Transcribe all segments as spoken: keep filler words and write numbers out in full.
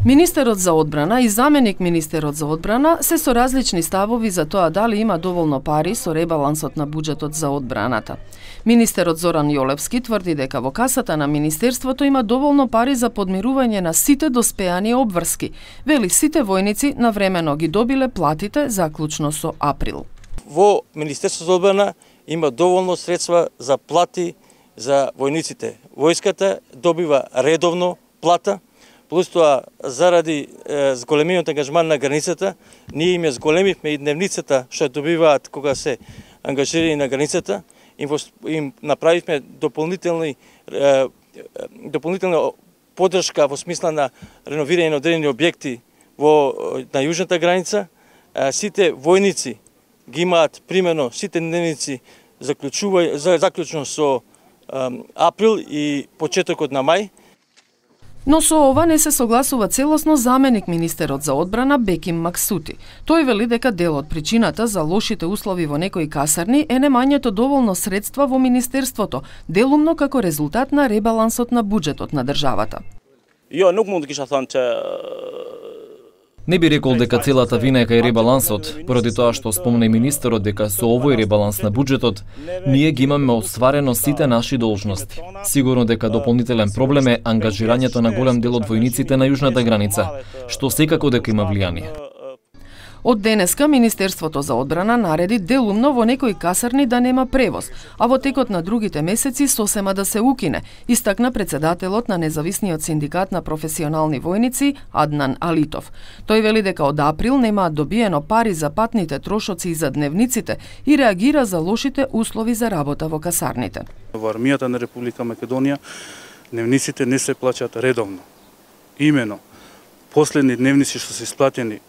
Министерот за одбрана и заменик министерот за одбрана се со различни ставови за тоа дали има доволно пари со ребалансот на буџетот за одбраната. Министерот Зоран Јолевски тврди дека во касата на министерството има доволно пари за подмирување на сите доспеани обврски. Вели сите војници навремено ги добиле платите заклучно со април. Во Министерството за одбрана има доволно средства за плати за војниците. Војската добива редовно плата. Плюс тоа, заради е, зголемениот ангажман на границата, ние им ја зголемивме и дневницата што добиваат кога се ангажирани на границата, им, им направивме дополнителни е, дополнителна поддршка во смисла на реновирање на одредени објекти во на јужната граница. Е, сите војници ги имаат примерно сите дневници заклучува заклучно со е, април и почетокот на мај. Но со ова не се согласува целосно заменик министерот за одбрана Беким Максути. Тој вели дека дел од причината за лошите услови во некои касарни е немањето доволно средства во министерството, делумно како резултат на ребалансот на буџетот на државата. Ја nuk mund të kisha thënë që Не би рекол дека целата вина е кај ребалансот, поради тоа што спомна и министерот дека со овој ребаланс на буџетот ние ги имаме остварено сите наши должности. Сигурно дека дополнителен проблем е ангажирањето на голем дел од војниците на јужната граница, што секако дека има влијание. Од денеска Министерството за одбрана нареди делумно во некои касарни да нема превоз, а во текот на другите месеци сосема да се укине, истакна председателот на независниот синдикат на професионални војници Аднан Алитов. Тој вели дека од април немаат добиено пари за патните трошоци и за дневниците и реагира за лошите услови за работа во касарните. Во армијата на Република Македонија дневниците не се плаќаат редовно. Имено, последни дневници што се исплатени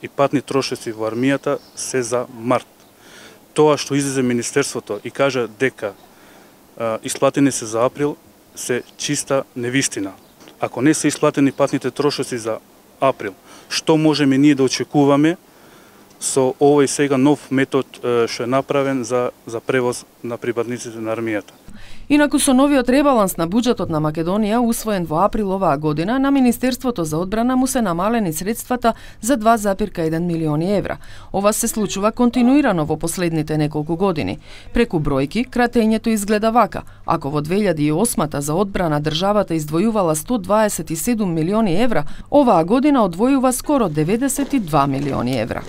и патни трошоци во армијата се за март. Тоа што излезе министерството и кажа дека а, исплатени се за април се чиста невистина. Ако не се исплатени патните трошоци за април, што можеме ние да очекуваме со овој сега нов метод што е направен за за превоз на припадниците на армијата? Инаку со новиот ребаланс на буџетот на Македонија, усвоен во април оваа година, на Министерството за одбрана му се намалени средствата за два запирка еден милиони евра. Ова се случува континуирано во последните неколку години. Преку бројки, кратењето изгледа вака. Ако во две илјади и осма за одбрана државата издвојувала сто дваесет и седум милиони евра, оваа година одвојува скоро деветдесет и два милиони евра.